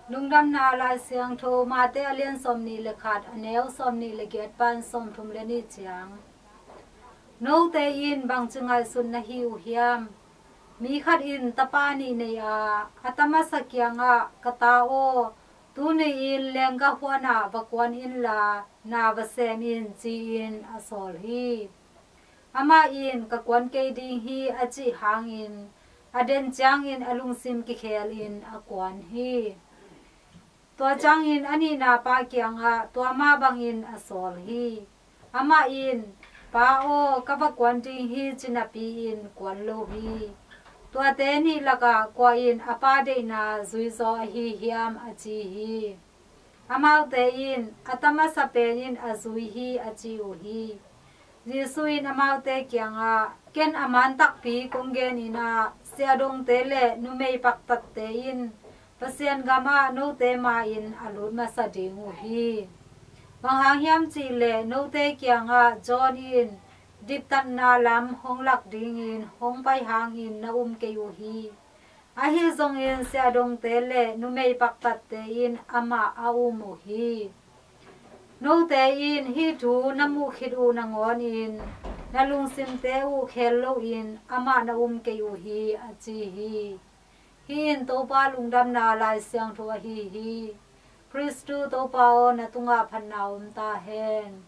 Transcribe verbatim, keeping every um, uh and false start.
Lungdamna Lai Siangtho, Mate a lian sawmnih le khat, a neu sawmnih le giat pan sawmthum le nih ciang. Note in bangci ngaihsut na hi uh hiam? Mi khat in tapa nih nei a, a ta masa kiangah, "Ka ta aw, tuni-in leenggah huanah va kuan inla, na va sem in," ci-in a sawl hi. Amah in, "Ka kuan kei ding hi," a cih hangin, a den ciangin a lungsim kikhelin a kuan hi. Tua ciangin a nihna pa kiangah tua mah bangin a sawl hi. Amah in, "Pa aw, ka va kuan ding hi," ci napi-in kuan lo hi. Tuate nih lakah kua in a pa deihna zuizaw ahi hiam, a ci hi. Amaute in, "A ta masa pen in a zui hi," a ci uh hi. Jesuh in amaute kiangah, "Ken a man takpi kong genin ah, siahdongte le numei paktatte in Pasian gamah note ma-in a lut masa ding uh hi. Bang hang hiam cihleh note kiangah John in diktatna lam hong lak dingin hong pai hangin na um kei uh hi. Ahi zongin siahdongte le numei paktatte in amah a um uh hi. Note in hih thu na muh khit uh nangawnin na lungsimte uh khel loin amah na um kei uh hi," a ci hi. Hih in Topa Lungdamna Lai Siangtho ahi hi. Khristu Topa aw, na tungah phatna om ta hen.